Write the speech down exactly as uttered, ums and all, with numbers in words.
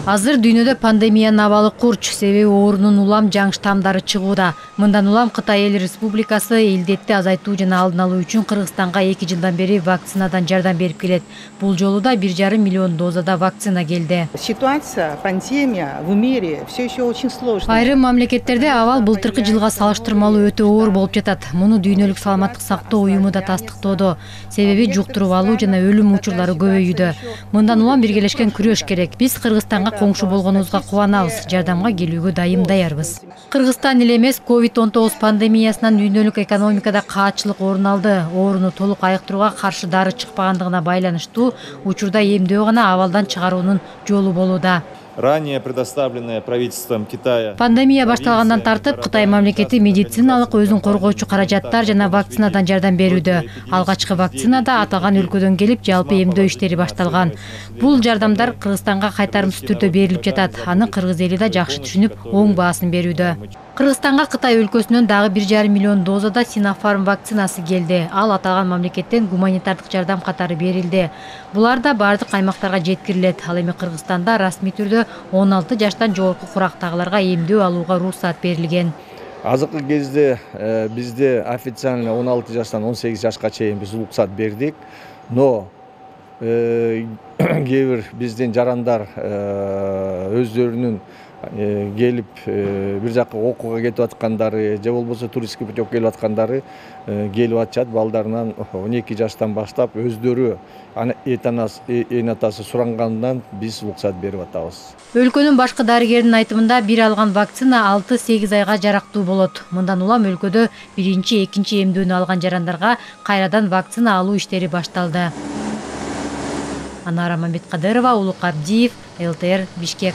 Азыр дүйнөдө пандемиянын абалы курч, себеби оорунун улам жаңы штамдары чыгууда. Мындан улам Кытай Эл Республикасы илдетти азайтуу жана алдын алуу үчүн Кыргызстанга эки жылдан бери вакцинадан жардам берип келет. Бул жолу да бир жарым миллион дозада вакцина келди. Ситуация, пандемия в мире все еще очень сложная. Айрым мамлекеттерде абал былтыркы жылга салыштырмалуу өтө оор болуп жатат. Муну Дүйнөлүк саламаттык сактоо уюму да тастыктоодо. Себеби жуктуруп алуу жана өлүм учурлары көбөйүүдө. Мындан улам биргелешкен күрөш керек. Биз Кыргызстанга коңшу болгонубузга кубанабыз, жардамга келүүгө дайым даярбыз. Кыргызстан эле эмес, ковид он тогуз пандемиясынан дүйнөлүк экономикада каатчылык орун алды. Ооруну толук айыктырууга каршы дары чыкпагандыгына байланыштуу учурда эмдөө гана абалдан чыгаруунун жолу болууда. Ранее предоставленное правительством Китая. Пандемия башталгандан тартып Кытай мамлекети медициналык өзүн коргоочу каражаттар жана вакцинадан жардам берүүдө. Алгачкы вакцина да аталган өлкөдөн келип, жалпы эмдөө иштери башталган. Бул жардамдар Кыргызстанга кайтарымсыз түрдө берилип жатат. Аны кыргыз эли да жакшы түшүнүп, оң баасын берүүдө. Кыргызстанга Кытай өлкөсүнөн дагы бир жарым миллион дозада Sinopharm вакцинасы келди. Ал аталган мамлекеттен гуманитардык жардам катары берилди. Булар да бардык аймактарга жеткирилет. Ал эми Кыргызстанда расмий түрдө он алты жаштан жогорку курактагыларга эмдөө алууга уруксат берилген. Азыркы кезде бизде официально он алты жаштан он сегиз жашка чейин биз уруксат бердик. Но кээ бир биздин жарандар өздөрүнүн келип бир жака окууга кетип аткандары же болбосо туристтик путёвка келип аткандары келип атышат. Балдарынан он эки жаштан баштап өздөрү эне атасы сурангандан биз уруксат берип атабыз. Өлкөнүн башкы дарыгеринин айтымында бир алган вакцина алты сегиз айга жарактуу болот. Мындан улам өлкөдө биринчи, экинчи эмдөөнү алган жарандарга кайрадан вакцина алуу иштери башталды. Анара Мамедкадырова, Улук Абдиев, эл тэ эр, Бишкек.